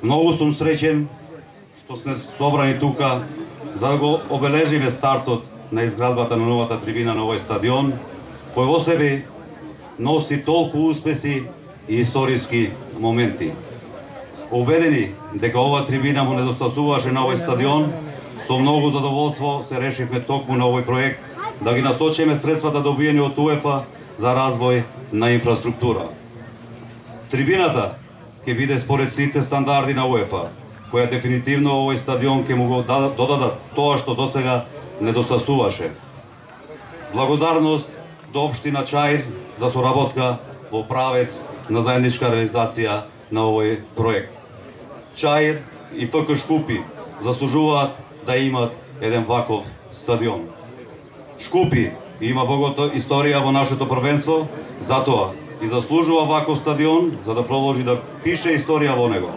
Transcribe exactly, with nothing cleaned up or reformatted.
Многу сум среќен што сме собрани тука за да го обележиме стартот на изградбата на новата трибина на овој стадион, кој во себе носи толку успеси и историски моменти. Убедени дека ова трибина му недостасуваше на овој стадион, со многу задоволство се решивме токму на овој проект да ги насочиме средствата добиени од УЕФА за развој на инфраструктура. Трибината ќе биде според сите стандарди на УЕФА, која дефинитивно овој стадион ќе му го додадат тоа што досега недостасуваше. Благодарност до општина Чаир за соработка во правец на заедничка реализација на овој проект. Чаир и ФК Шкупи заслужуваат да имат еден ваков стадион. Шкупи има богата историја во нашето првенство, затоа и заслужува ваков стадион за да продолжи да пише историја во него.